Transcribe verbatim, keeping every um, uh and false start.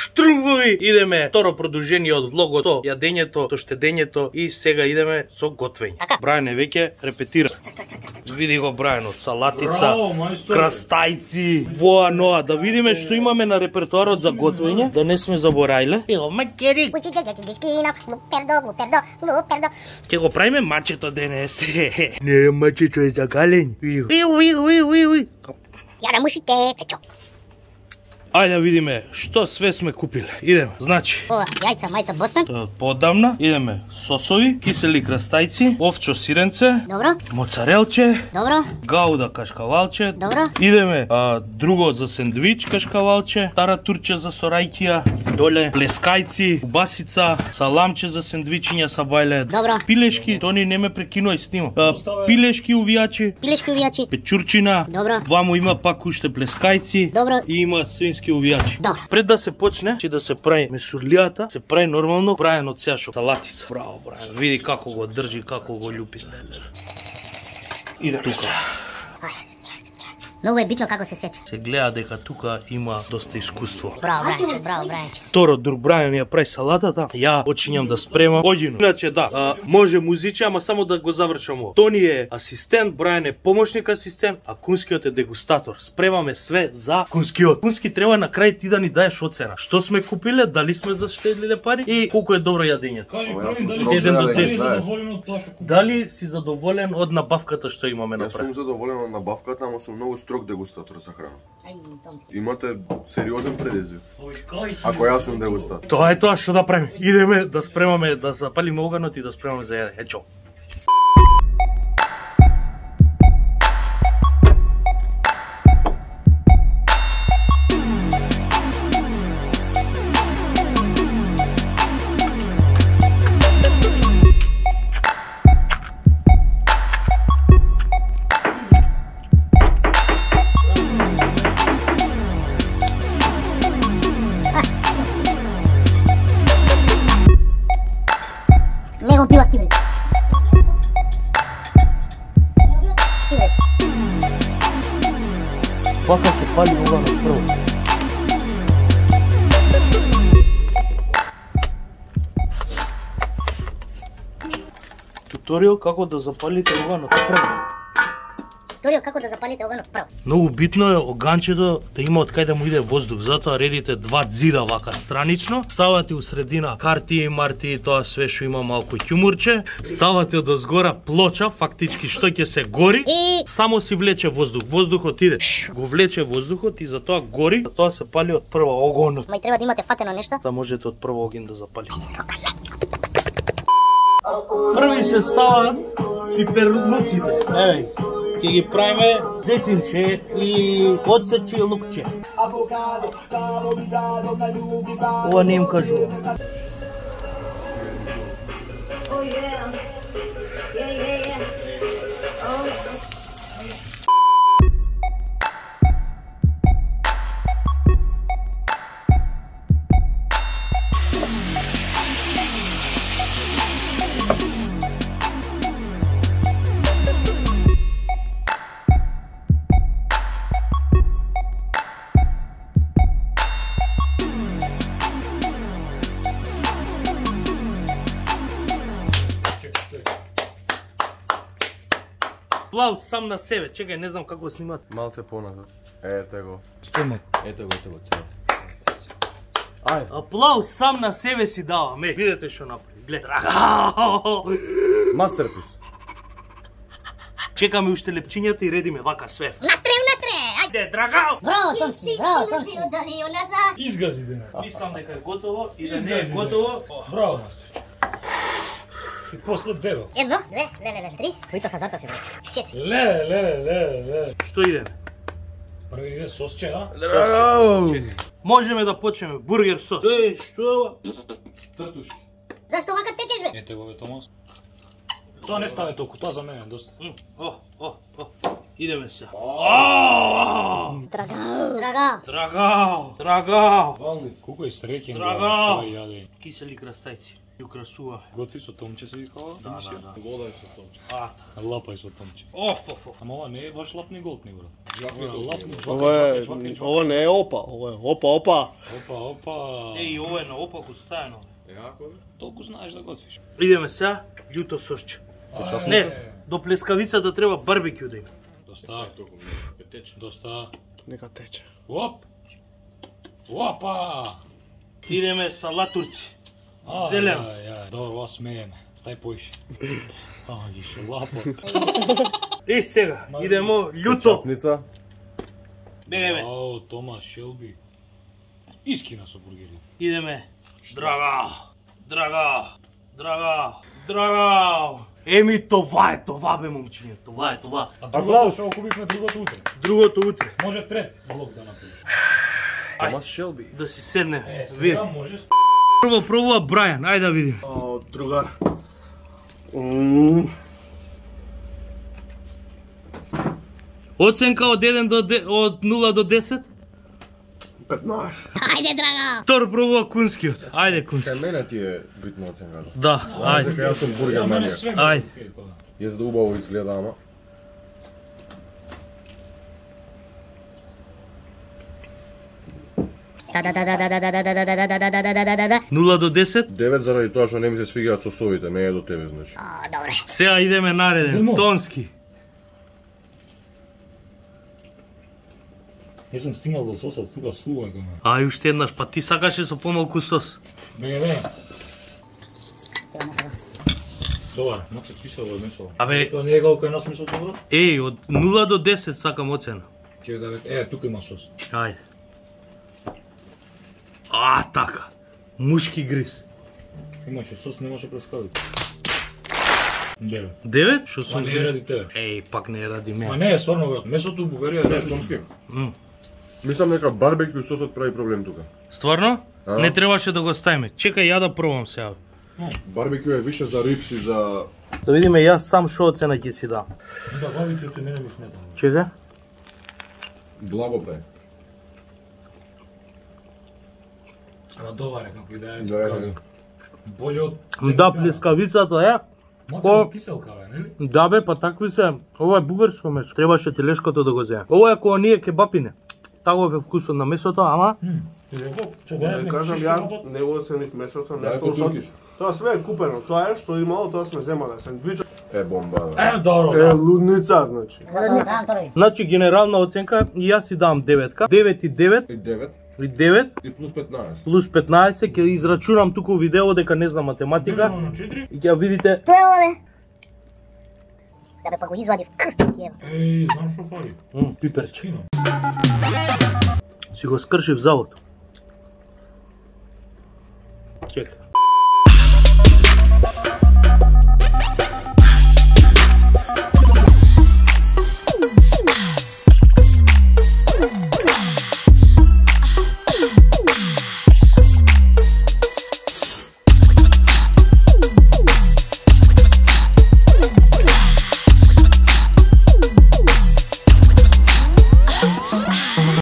Штрумбови, идеме второ продолжение од влогото, јадењето, со штедењето и сега идеме со готвење. Брајан е веќе репетира. Види го Брајан од салатица, крастајци, воа ноа, да видиме што имаме на репертуарот за готвење, да не сме забораиле. Ево макери. Ќе го правиме мачето денес. Не, мачето е за галење. Иу, иу, иу, иу, иу. Јара мушите, печо. Ајде да видиме што све сме купиле. Идеме. Значи, Ова, јајца, мајца Бостон. тоа од поодамна. Идеме сосови, кисели крастајци, овчо сиренце, Добро, моцарелче, добро, гауда кашкавалче. добро. Идеме а, друго за сендвич кашкавалче, тара турче за сорајкија, доле плескајци, убасица, саламче за сендвичиња са бајле. Добро. Пилешки, тони не ме прекинувај снима. А, пилешки увијачи, Пилешки увијачи. печурчина. Добро. Ваму има пак уште плескајци. Добро. И има свински увијачи. Добро. Пред да се почне, че да се прави месурлијата, се прави нормално, Брајан од сеашо салатица. Браво, Брајан. Види како го држи, како го љупи. Иде тука. Многу е битно како се сече. Се гледа дека тука има доста искуство. Браво, Брајанче, браво, Брајанче. Второ, друг Брајан ја прави салатата, ја почињам да спремам. Оѓино. Иначе да, а, може музиче, ама само да го завршам ово. Тони е асистент, Брајан е помошник асистент, а Кунскиот е дегустатор. Спремаме све за Кунскиот. Кунски треба на крај ти да ни даеш оцена. Што сме купиле, дали сме заштедлиле пари и колку е добро јадењето. Кажи Ова, први јас дали сум си еден до задоволен, десет. знаеш. задоволен од тоа што купи. Дали си задоволен од набавката што имаме Јас сум направи? задоволен од набавката, ама сум многу строг дегустатор за храна. Ај, Томски. Имате сериозен предизвик. Ој, кај си? Ако јас сум дегустатор. Тоа е тоа што да правиме. Идеме да спремаме, да запалиме оганот и да спремаме за јаде. Ечо. Не го пила кибрид. Кибрид. Вака се пали оганот прво. Туторијал како да запалите оганот прво. Турио, како да запалите оганот прво. Многу битно е оганчето да има од кај да му иде воздух, затоа редите два ѕида вака странично, ставате у средина карти и марти и тоа све што има малку ќумурче, ставате од озгора плоча, фактички што ќе се гори, И само си влече воздух, воздухот иде, го влече воздухот и затоа гори, затоа се пали од прво огонот, мај треба да имате фатено нешто. да можете од прво оген да запалите. Први се стават пиперлуците. Еве, ќе ги правиме зетинче и одсече и лукче. Ова не им кажува. Oh yeah, yeah, yeah, yeah. Oh. Аплауз сам на себе, чекај, не знам како снимат. Малце поназад. Ете го. Стојмо. Ете го, ете го. цел. Ај, аплауз сам на себе си давам, е. Видете што направи. Глед. Драгал. Мастерпис. Чекаме уште лепчињата и редиме вака све. Натре, натре. Ај. Де, драгал. Браво, Томски, браво, Томски. Изгази денес. Мислам дека е готово и да не е Изгази готово. денес. Браво, мастер. И после дебел. Едно, две, леле, леле, три. Којто хазарта се врати? Четири. Ле, ле, ле, ле. Што идеме? Први иде сосче, а? Драго! Можеме да почнеме бургер сос. Е, што е ова? Тртушки. Зашто вака течеш, бе? Ете го, бе, Томас. Тоа не стане толку, тоа за мене е доста. М, О, о, о. Идеме се. Драгал. Драгал. Драгал, драгал. Колку е среќен, Драгал. бе, јаде. Кисели крастајци. Ја украсува. Готви со томче се викава. Да, да, да. Вода е со томче. А, Лапај со томче. оф, оф, оф. Ама ова не е баш лапни голтни, брат. Жваки Ова е голтни, лапни, брат. жваки, Ова е, жваки, жваки, ова не е опа, ова е опа, опа. Опа, опа. Еј, ова е на опаку стајано. Јако бе? Толку знаеш да готвиш. Идеме сега, љуто сосче. Ај, Не, до плескавицата треба барбекю да има. Доста, Толку ми ке тече. доста. Нека тече. Оп. Опа. Идеме салатурци. Ај, Зелен. Ај, ај, добро, ова смееме. Стај поише. Ај, ги ше лапо. И сега, идемо љуто. Чапница. Бегајме. Ао, Томас Шелби. Искина со бургерите. Идеме. Драга, драга, драга, драга. Еми, това е, това бе, момчиње, това е, това. А другото што го купивме другото утре. Другото утре. Може трет влог да направи. Томас Шелби. Да си седне, Е, види. сега може. Прво пробува Брајан, ајде да видим. О, другар. Мм. Оценка од еден до де, од нула до десет? петнаесет. Ајде, драга! Втор пробува Кунскиот. Ајде, Кунски. Кај мене ти е битно оценката. Да, ајде. Јас сум бургер Мене манија. све Ајде. окей тоа. Јас да убаво изгледа, ама. Да, да, да, да, да, да, да, да, да, да, да, да, да, да, да, да, да, да. нула до десет? девет заради тоа што не ми се свигаат сосовите, не е до тебе, значи. О, добре. Сега идеме нареден, Идемо. Тонски. Не сум стигнал до сосот, тука сува кај мене. Ај, уште еднаш, па ти сакаше со помалку сос. Беге, беге. Сега не сега. Добар, моце кисело е месо. Абе- Тоа не е како кај нас месо добро? Еј, од нула до десет сакам оцена. Чека, бе, е, тука има сос. Ајде. А, така. Мушки гриз. Имаше сос, немаше прескавите. Девет. девет? Шо Ма сум... не е ради тебе. Еј, пак не е ради Ма мене. не е стварно, брат. Месото у Бугарија е Не, различно. Томски. М. Мислам дека барбекю сосот прави проблем тука. Стварно? А. Не требаше да го ставиме. Чекај ја да пробам сега. Барбекю е више за рипси, за... Да видиме јас сам шо оцена ќе си дам. Да, барбекјуто мене ми смета. Чекај. Благо прави. Ама добар е како и да е, Да, е, казам. Боле од... Да, плескавицата е. Моце Ко- киселка, бе, нели? Да бе, па такви се. Ова е бугарско месо. Требаше телешкото да го земе. Ова е кога ние кебапине. Таков е вкусот на месото, ама Не кажам ја, не го оценив месото, не Да, е сосот. туркиш. Тоа све е купено, тоа е што имало, тоа сме земале. Сендвич Е бомба, да. Е, добро, е да. лудница, значи. Готово, давам тоа. значи генерална оценка и јас си дам деветка. девет и девет И девет, и девет и плюс петнаесет. плюс петнаесет ќе израчунам туку у видео дека не знам математика Делено на четири. и ќе видите. Тоа е ова, бе. Да бе, па го извадив крстот ќе. Еј, знам што фали. М, пиперче. Кино. Си го скршив завод.